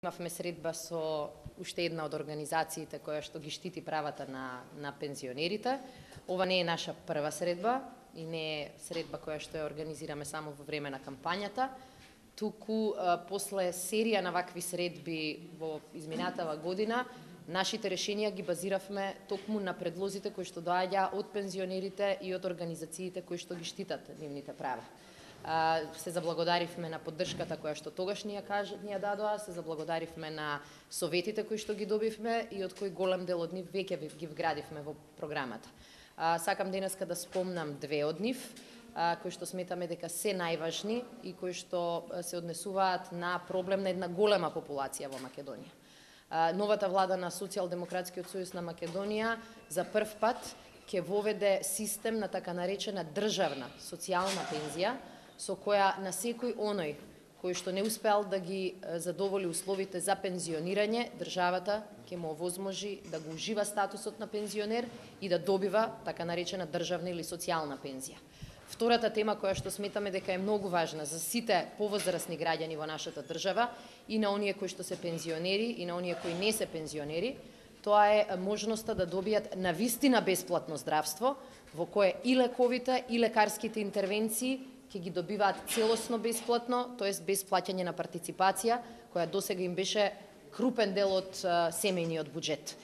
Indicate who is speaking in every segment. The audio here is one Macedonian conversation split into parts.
Speaker 1: Имавме средба со уште една од организациите која што ги штити правата на пензионерите. Ова не е наша прва средба и не е средба која што ја организираме само во време на кампањата, туку после серија на вакви средби во изминатава година, нашите решенија ги базиравме токму на предлозите кои што доаѓа од пензионерите и од организациите кои што ги штитат нивните права. Се заблагодаривме на поддршката која што тогаш ни ја дадоа, се заблагодаривме на советите кои што ги добивме и од кои голем дел од нив веќе ги вградивме во програмата. Сакам денеска да спомнам две од нив, кои што сметаме дека се најважни и кои што се однесуваат на проблем на една голема популација во Македонија. Новата влада на Социјалдемократскиот сојуз на Македонија за прв пат ќе воведе систем на така наречена државна социјална пензија, со која на секој оној кој што не успеал да ги задоволи условите за пензионирање, државата ќе му овозможи да го ужива статусот на пензионер и да добива така наречена државна или социјална пензија. Втората тема која што сметаме дека е многу важна за сите повозрасни граѓани во нашата држава, и на оние кои што се пензионери и на оние кои не се пензионери, тоа е можноста да добијат навистина бесплатно здравство, во кое и лековите и лекарските интервенции ќе ги добиваат целосно бесплатно, тоест без плаќање на партиципација, која досега им беше крупен дел од семејниот буџет.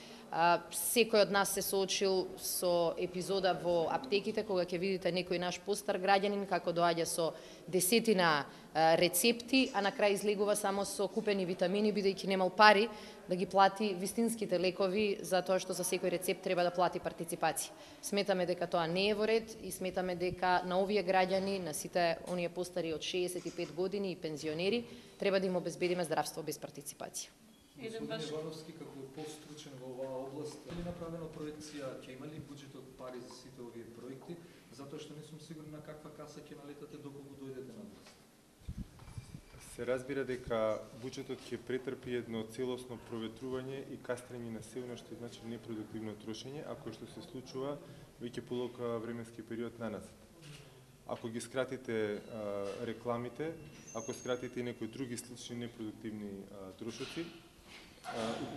Speaker 1: Секој од нас се соочил со епизода во аптеките, кога ќе видите некој наш постар граѓанин како доаѓа со десетина рецепти, а на крај излегува само со купени витамини, бидејќи немал пари да ги плати вистинските лекови, затоа што за секој рецепт треба да плати партиципација. Сметаме дека тоа не е во ред и сметаме дека на овие граѓани, на сите оние постари од 65 години и пензионери, треба да им обезбедиме здравство без партиципација.
Speaker 2: Господин Ивановски, како постручен во оваа област, е ли направена проекција, ќе има ли буџетот пари за сите овие проекти, затоа што не сум сигурен на каква каса ќе налетате доколку дојдете на власт?
Speaker 3: Се разбира дека буџетот ќе претрпи едно целосно проветрување и кастрење на се она што значи непродуктивно трошење, ако што се случува веќе подолг временски период наназад. Ако ги скратите рекламите, ако скратите и некои други слични непродуктивни трошоци,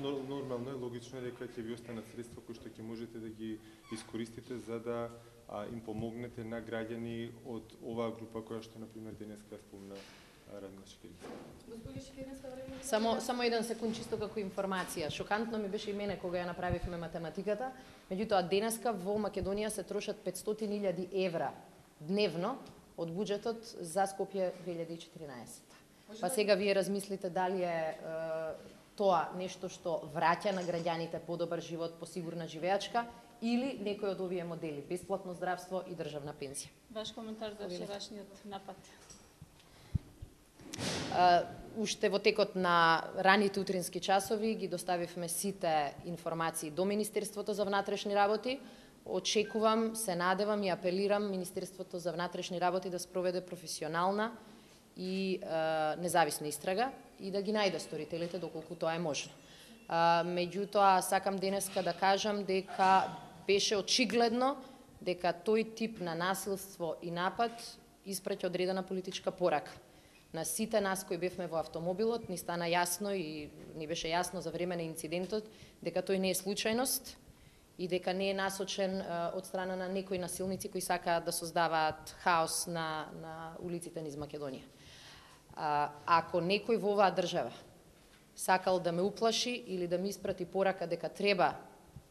Speaker 3: нормално е, логично е дека ќе ви останат средства кои што ќе можете да ги искористите за да им помогнете на граѓани од оваа група која што например денеска спомна Радмила
Speaker 1: Шекеринска. Само еден секунд чисто како информација. Шокантно ми беше и мене кога ја направивме математиката, меѓутоа денеска во Македонија се трошат 500.000 евра дневно од буџетот за Скопје 2014. Па сега вие размислите дали е тоа нешто што враќа на граѓаните подобар живот, посигурна живеачка, или некој од овие модели, бесплатно здравство и државна пензија.
Speaker 4: Ваш коментар за вчерашниот напад?
Speaker 1: Уште во текот на раните утрински часови ги доставивме сите информации до Министерството за внатрешни работи. Очекувам, се надевам и апелирам Министерството за внатрешни работи да спроведе професионална и независна истрага и да ги најде сторителите доколку тоа е можно. Меѓутоа, сакам денеска да кажам дека беше очигледно дека тој тип на насилство и напад испраќа одредена политичка порака. На сите нас кои бевме во автомобилот ни стана јасно и ни беше јасно за време на инцидентот дека тој не е случајност и дека не е насочен од страна на некои насилници кои сакаат да создаваат хаос на улиците низ Македонија. Ако некој во оваа држава сакал да ме уплаши или да ми испрати порака дека треба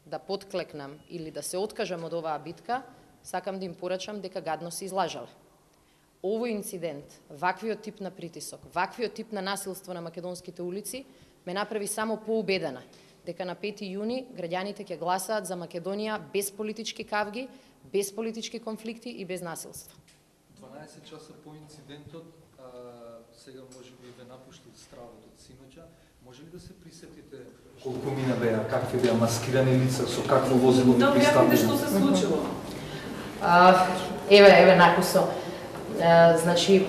Speaker 1: да подклекнам или да се откажам од оваа битка, сакам да им порачам дека гадно се излажале. Овој инцидент, ваквиот тип на притисок, ваквиот тип на насилство на македонските улици ме направи само поубедена дека на 5 јуни граѓаните ќе гласаат за Македонија без политички кавги, без политички конфликти и без насилство.
Speaker 2: 12 часа по инцидентот, сега може би ве напуштил стравот од синоќа, може ли да се присетите колку мина беа, какви беа маскирани лица, со какво возило ви пристапило?
Speaker 5: Да, што се случило?
Speaker 1: Еве накусо. Значи,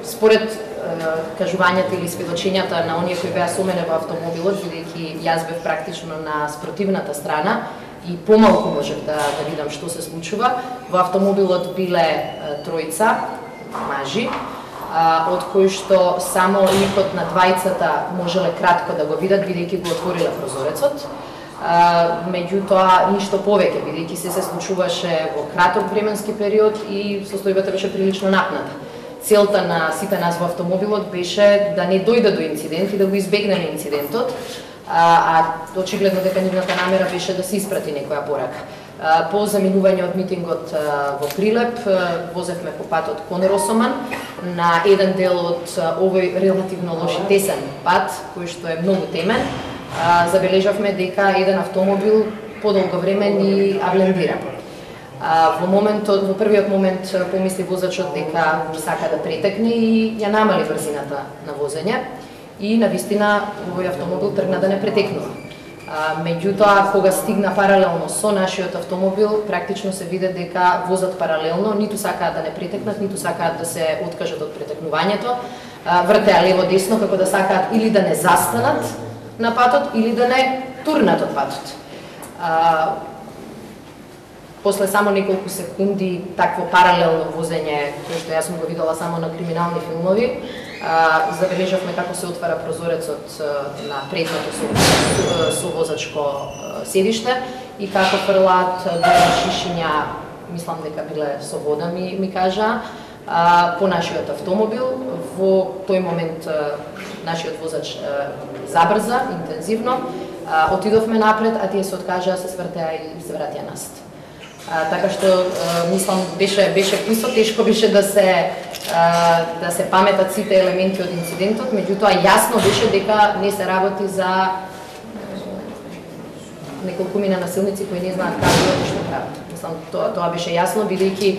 Speaker 1: според кажувањата или сведочењата на оние кои беа со мене во автомобилот, бидејќи јас бев практично на спротивната страна и помалку можев да видам што се случува, во автомобилот биле тројца мажи, од кој што само ликот на двајцата можеле кратко да го видат, бидејќи го отворила прозорецот. Меѓутоа, ништо повеќе, бидејќи се случуваше во краток временски период и состојбата беше прилично напната. Целта на сите нас во автомобилот беше да не дојде до инцидент и да го избегнеме инцидентот, а очигледно дека нивната намера беше да се испрати некоја порака. По заминување од митингот во Прилеп, возевме по патот кон Росоман, на еден дел од овој релативно лош и тесен пат, кој што е многу темен, забележавме дека еден автомобил подолго време ни аблендира. Во првиот момент помисли возачот дека сака да претекне и ја намали брзината на возење и навистина овој автомобил тргна да не претекнува. Меѓутоа, кога стигна паралелно со нашиот автомобил, практично се виде дека возат паралелно, ниту сакаат да не претекнат, ниту сакаат да се откажат од претекнувањето, вртеа лево-десно како да сакаат или да не застанат на патот или да не турнат од патот. После само неколку секунди такво паралелно возење, кој што јас сум го видела само на криминални филмови, забележавме како се отвара прозорецот на предното совозачко седиште и како фрлаат шишиња, мислам дека биле со вода, ми кажа, по нашиот автомобил. Во тој момент нашиот возач забрза интензивно, отидовме напред, а тие се откажаа, се свртеа и се вратија назад. Така што мислам беше исто тешко беше да се паметат сите елементи од инцидентот, меѓутоа јасно беше дека не се работи за неколкумина насилници кои не знаат како и што прават. Мислам тоа беше јасно бидејќи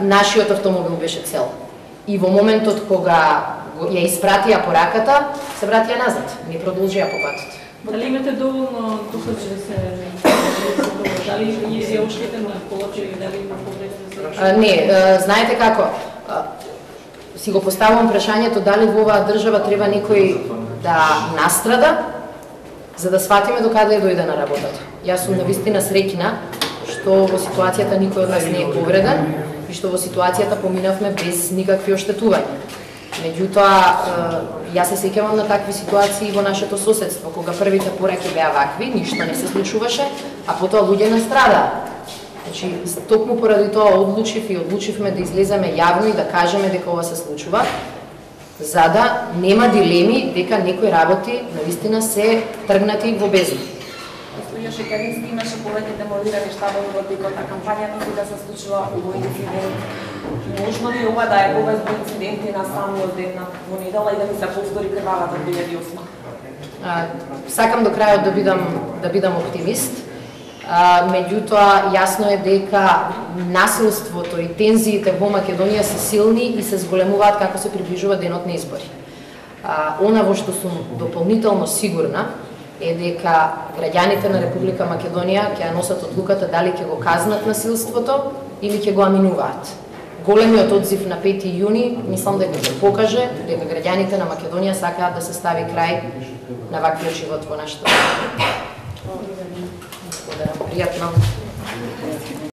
Speaker 1: нашиот автомобил беше цел. И во моментот кога ја испратија пораката, се вратија назад, не продолжија по патот.
Speaker 4: Дали имате доволно докажи да се дали е оштетено колото или дали има повреди?
Speaker 1: Не, знаете како, си го поставувам прашањето дали во оваа држава треба некој да настрада за да сватиме докаде дојде на работата. Јас сум навистина среќна што во ситуацијата никој од нас не е повреден и што во ситуацијата поминавме без никакви оштетувања. Меѓутоа, јас се сеќавам на такви ситуации во нашето соседство, кога првите пораки беа вакви, ништо не се случуваше, а потоа луѓе настрадаа. Значи, токму поради тоа одлучивме да излеземе јавно и да кажеме дека ова се случува, за да нема дилеми дека некои работи навистина се тргнати во бездна.
Speaker 5: Госпоѓа Шекерински имаше повеќе деморирани штабови во текот на кампањата кога се случува овој инцидент. Можно ли ова да е повеќе инциденти на самиот ден во недела и да ни се повтори крвавата 2008?
Speaker 1: Сакам до крајот да бидам оптимист. Меѓутоа, јасно е дека насилството и тензиите во Македонија се силни и се зголемуваат како се приближува денот на избори. Она во што сум дополнително сигурна е дека граѓаните на Република Македонија ќе ја носат одлуката дали ќе го казнат насилството или ќе го аминуваат. Големиот одзив на 5 јуни мислам дека ќе покаже дека граѓаните на Македонија сакаат да се стави крај на ваквиот живот во нашата држава. Пријатно.